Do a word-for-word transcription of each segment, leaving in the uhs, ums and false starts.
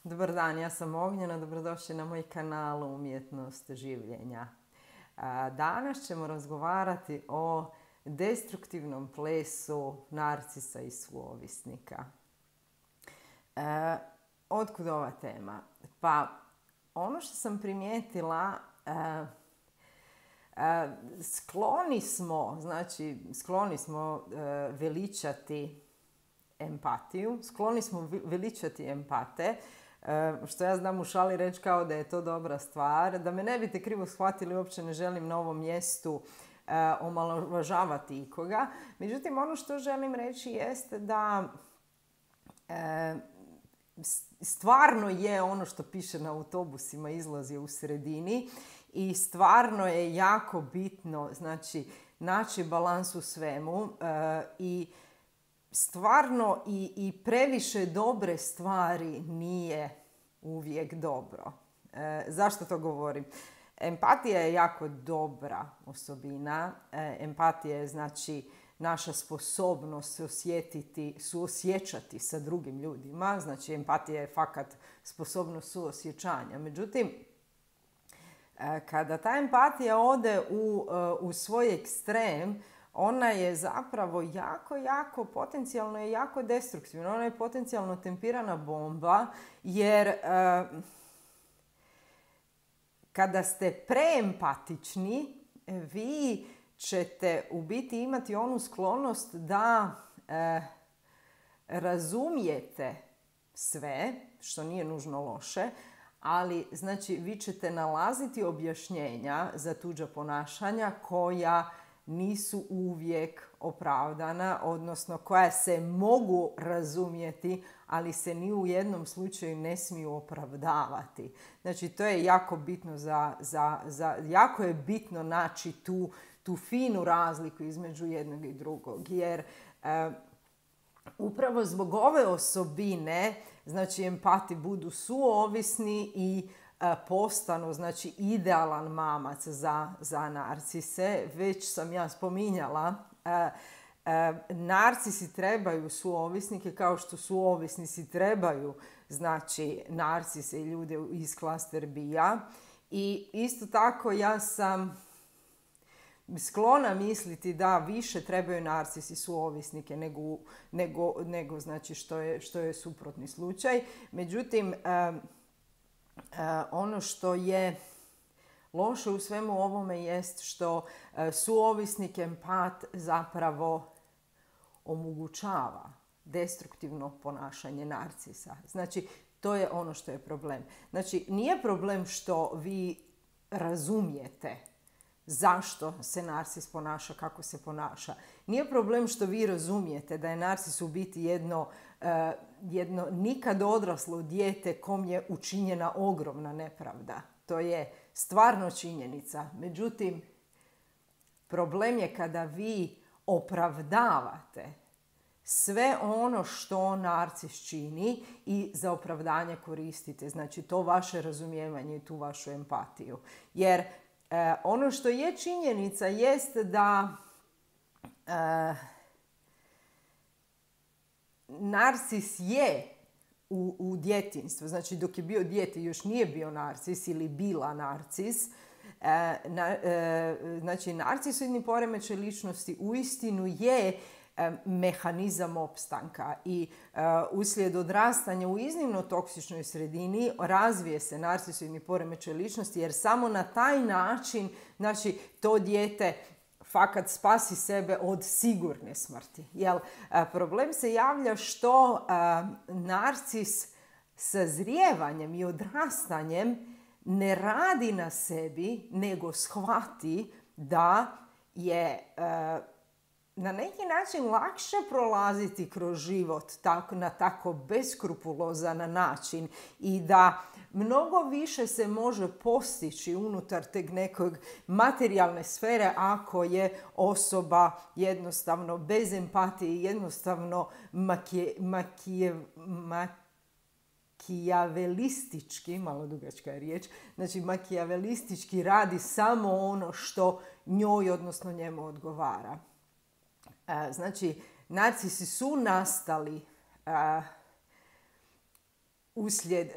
Dobar dan, ja sam Ognjena, dobrodošli na moj kanal Umjetnost življenja. Danas ćemo razgovarati o destruktivnom plesu narcisa i suovisnika. E, otkud ova tema? Pa, ono što sam primijetila, e, e, skloni smo, znači, skloni smo e, veličati empatiju, skloni smo veličati empate, što ja znam u šali reći kao da je to dobra stvar. Da me ne biste krivo shvatili, uopće ne želim na ovom mjestu omalovažavati ikoga. Međutim, ono što želim reći jeste da stvarno je ono što piše na autobusima izlazi u sredini i stvarno je jako bitno, znači, naći balans u svemu i stvarno i, i previše dobre stvari nije uvijek dobro. E, zašto to govorim? Empatija je jako dobra osobina. E, empatija je, znači, naša sposobnost se osjetiti, suosjećati sa drugim ljudima. Znači, empatija je fakat sposobnost suosjećanja. Međutim, e, kada ta empatija ode u, u svoj ekstrem, ona je zapravo jako, jako potencijalno i jako destruktivna. Ona je potencijalno tempirana bomba, jer e, kada ste preempatični, vi ćete u biti imati onu sklonost da e, razumijete sve, što nije nužno loše, ali znači vi ćete nalaziti objašnjenja za tuđa ponašanja koja nisu uvijek opravdana, odnosno koja se mogu razumjeti, ali se ni u jednom slučaju ne smiju opravdavati. Znači, to je jako bitno za, za, za jako je bitno naći tu, tu finu razliku između jednog i drugog, jer e, upravo zbog ove osobine, znači, empati budu suovisni i postanu, znači, idealan mamac za, za narcise. Već sam ja spominjala, e, e, narcisi trebaju suovisnike kao što suovisnici trebaju, znači, narcise i ljude iz klaster B-a. I isto tako ja sam sklona misliti da više trebaju narcisi suovisnike nego, nego, nego znači, što je, što je suprotni slučaj. Međutim, e, Uh, ono što je loše u svemu ovome jest što uh, suovisnik empat zapravo omogućava destruktivno ponašanje narcisa. Znači, to je ono što je problem. Znači, nije problem što vi razumijete zašto se narcis ponaša kako se ponaša. Nije problem što vi razumijete da je narcis u biti jedno, uh, jedno nikad odraslo dijete kom je učinjena ogromna nepravda. To je stvarno činjenica. Međutim, problem je kada vi opravdavate sve ono što narcis čini i za opravdanje koristite. Znači, to vaše razumijevanje i tu vašu empatiju. Jer E, ono što je činjenica jest da e, narcis je u, u djetinjstvu, znači dok je bio dijete još nije bio narcis ili bila narcis, e, na, e, znači narcisoidni poremećaj ličnosti uistinu je mehanizam opstanka i uh, uslijed odrastanja u iznimno toksičnoj sredini razvije se narcisoidni poremećaj ličnosti, jer samo na taj način, znači, to dijete fakat spasi sebe od sigurne smrti. Jel, uh, problem se javlja što uh, narcis sazrijevanjem i odrastanjem ne radi na sebi, nego shvati da je uh, na neki način lakše prolaziti kroz život tako, na tako beskrupulozan način i da mnogo više se može postići unutar teg nekog materijalne sfere ako je osoba jednostavno bez empatije, jednostavno makije, makije, makijavelistički, malo dugačka je riječ, znači makijavelistički radi samo ono što njoj, odnosno njemu odgovara. Znači, narcisi su nastali uh, uslijed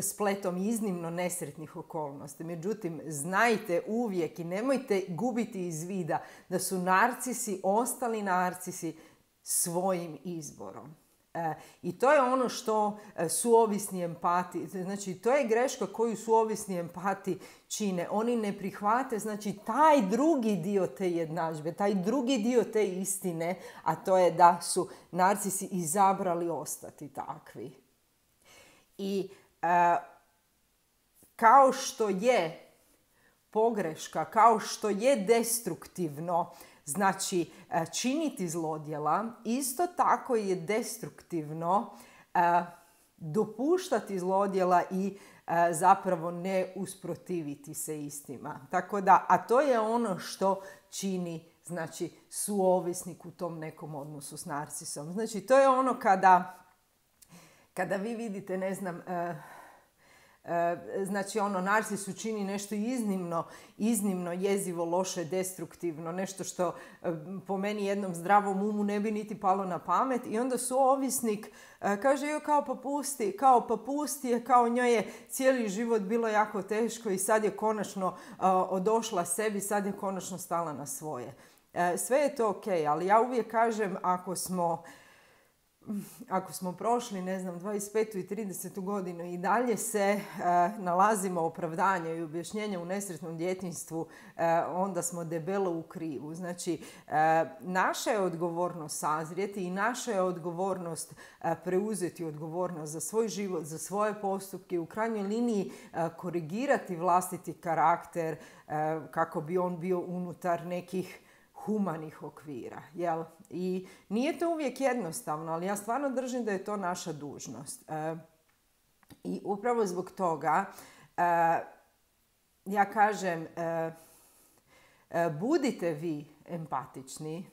spletom iznimno nesretnih okolnosti. Međutim, znajte uvijek i nemojte gubiti iz vida da su narcisi ostali narcisi svojim izborom. E, I to je ono što e, suovisni empati, znači to je greška koju suovisni empati čine. Oni ne prihvate, znači taj drugi dio te jednadžbe, taj drugi dio te istine, a to je da su narcisi izabrali ostati takvi. I e, kao što je pogreška, kao što je destruktivno, znači činiti zlodjela, isto tako je destruktivno e, dopuštati zlodjela i e, zapravo ne usprotiviti se istima. Tako da, a to je ono što čini, znači, suovisnik u tom nekom odnosu s narcisom. Znači, to je ono kada, kada vi vidite, ne znam, e, znači ono, narcis učini nešto iznimno, iznimno jezivo, loše, destruktivno, nešto što po meni jednom zdravom umu ne bi niti palo na pamet i onda suovisnik kaže joj kao pa pusti, kao pa pusti je, kao njoj je cijeli život bilo jako teško i sad je konačno uh, odošla sebi, sad je konačno stala na svoje. Uh, sve je to ok, ali ja uvijek kažem ako smo Ako smo prošli, ne znam, dvadeset petu i tridesetu godinu i dalje se e, nalazimo opravdanja i objašnjenja u nesretnom djetinjstvu, e, onda smo debelo u krivu. Znači, e, naša je odgovornost sazrijeti i naša je odgovornost e, preuzeti odgovornost za svoj život, za svoje postupke i u krajnjoj liniji e, korigirati vlastiti karakter e, kako bi on bio unutar nekih humanih okvira, jel? I nije to uvijek jednostavno, ali ja stvarno držim da je to naša dužnost. E, I upravo zbog toga e, ja kažem e, e, budite vi empatični,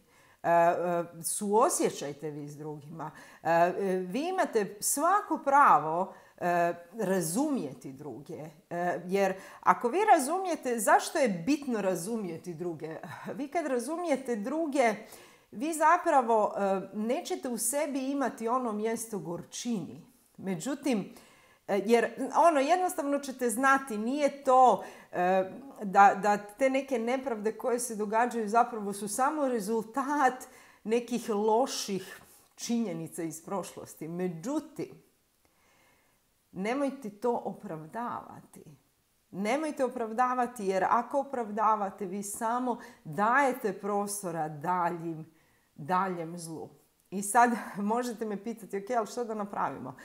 e, e, suosjećajte vi s drugima. E, e, vi imate svako pravo E, razumjeti druge. E, jer ako vi razumijete, zašto je bitno razumjeti druge? Vi kad razumijete druge, vi zapravo e, nećete u sebi imati ono mjesto gorčini. Međutim, e, jer ono jednostavno ćete znati, nije to e, da, da te neke nepravde koje se događaju zapravo su samo rezultat nekih loših činjenica iz prošlosti. Međutim, nemojte to opravdavati. Nemojte opravdavati jer ako opravdavate vi samo dajete prostora daljim, daljem zlu. I sad možete me pitati, ok, ali što da napravimo?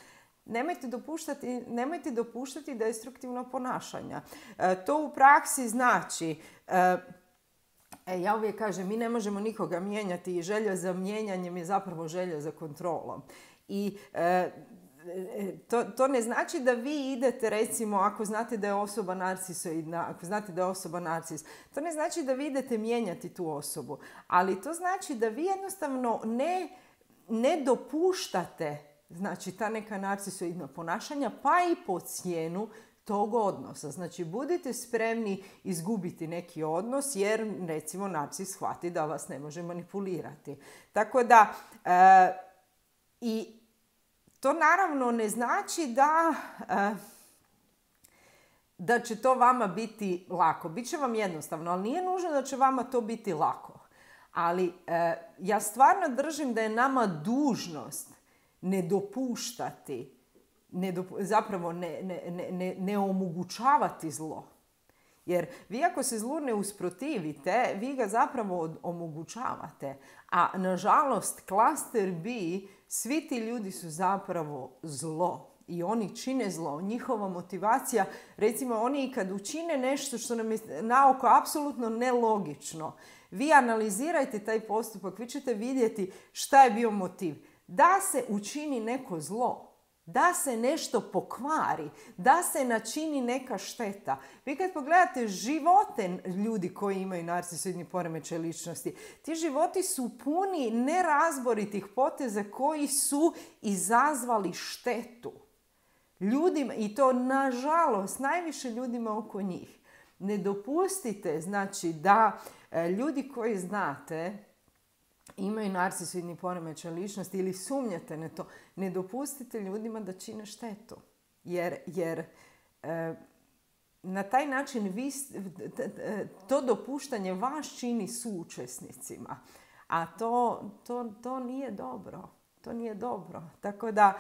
Nemojte dopuštati, nemojte dopuštati destruktivno ponašanje. E, to u praksi znači, e, e, ja uvijek kažem, mi ne možemo nikoga mijenjati i želja za mijenjanjem je zapravo želja za kontrolom. I e, To, to ne znači da vi idete, recimo, ako znate da je osoba narcisoidna, ako znate da je osoba narcis, to ne znači da vi idete mijenjati tu osobu, ali to znači da vi jednostavno ne, ne dopuštate, znači, ta neka narcisoidna ponašanja, pa i po cijenu tog odnosa. Znači, budite spremni izgubiti neki odnos jer, recimo, narcis shvati da vas ne može manipulirati. Tako da, e, i to naravno ne znači da, da će to vama biti lako. Biće vam jednostavno, ali nije nužno da će vama to biti lako. Ali ja stvarno držim da je nama dužnost ne dopuštati, ne dopu, zapravo ne, ne, ne, ne omogućavati zlo. Jer vi ako se zlu ne usprotivite, vi ga zapravo omogućavate. A nažalost, klaster B, svi ti ljudi su zapravo zlo. I oni čine zlo. Njihova motivacija, recimo oni kad učine nešto što nam je na oko apsolutno nelogično, vi analizirajte taj postupak, vi ćete vidjeti šta je bio motiv. Da se učini neko zlo. Da se nešto pokvari, da se načini neka šteta. Vi kad pogledate živote ljudi koji imaju narcisoidni poremećaj ličnosti, ti životi su puni nerazboritih poteza koji su izazvali štetu ljudima i to nažalost najviše ljudima oko njih. Ne dopustite, znači, da ljudi koji znate imaju narcisoidni poremećaj ličnosti ili sumnjate na to, ne dopustite ljudima da čine štetu. Jer, jer e, na taj način vi, to dopuštanje vas čini suučesnicima. A to, to, to nije dobro. To nije dobro. Tako da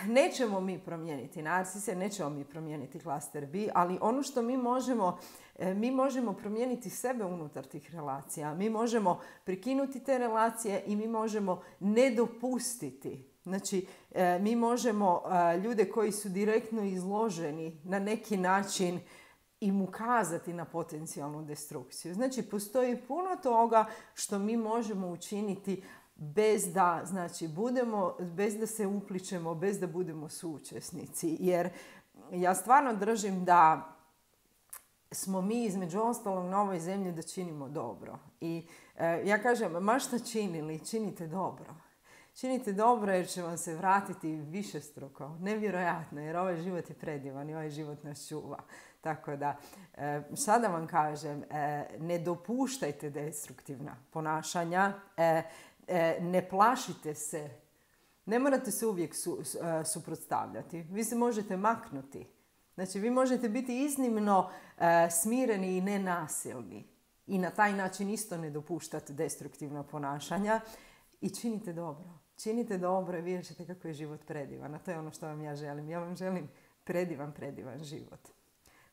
nećemo mi promijeniti narsise, nećemo mi promijeniti klaster B, ali ono što mi možemo, mi možemo promijeniti sebe unutar tih relacija. Mi možemo prekinuti te relacije i mi možemo ne dopustiti. Znači, mi možemo ljude koji su direktno izloženi na neki način im ukazati na potencijalnu destrukciju. Znači, postoji puno toga što mi možemo učiniti bez da, znači, budemo, bez da se upličemo, bez da budemo suučesnici. Jer ja stvarno držim da smo mi između ostalog na ovoj zemlji da činimo dobro. I e, ja kažem, ma šta činili, činite dobro. Činite dobro jer će vam se vratiti višestruko. Nevjerojatno, jer ovaj život je predivan i ovaj život nas čuva. Tako da, e, sada vam kažem, e, ne dopuštajte destruktivna ponašanja, e, e, ne plašite se, ne morate se uvijek su, su, suprotstavljati. Vi se možete maknuti. Znači, vi možete biti iznimno e, smireni i nenasilni. I na taj način isto ne dopuštati destruktivna ponašanja i činite dobro. Činite dobro i vidjet ćete kako je život predivan. A to je ono što vam ja želim. Ja vam želim predivan, predivan život.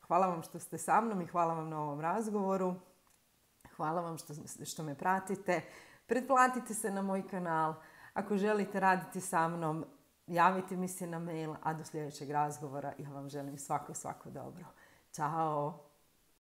Hvala vam što ste sa mnom i hvala vam na ovom razgovoru. Hvala vam što, što me pratite. Pretplatite se na moj kanal. Ako želite raditi sa mnom, javite mi se na mail, a do sljedećeg razgovora ja vam želim svako, svako dobro. Ćao!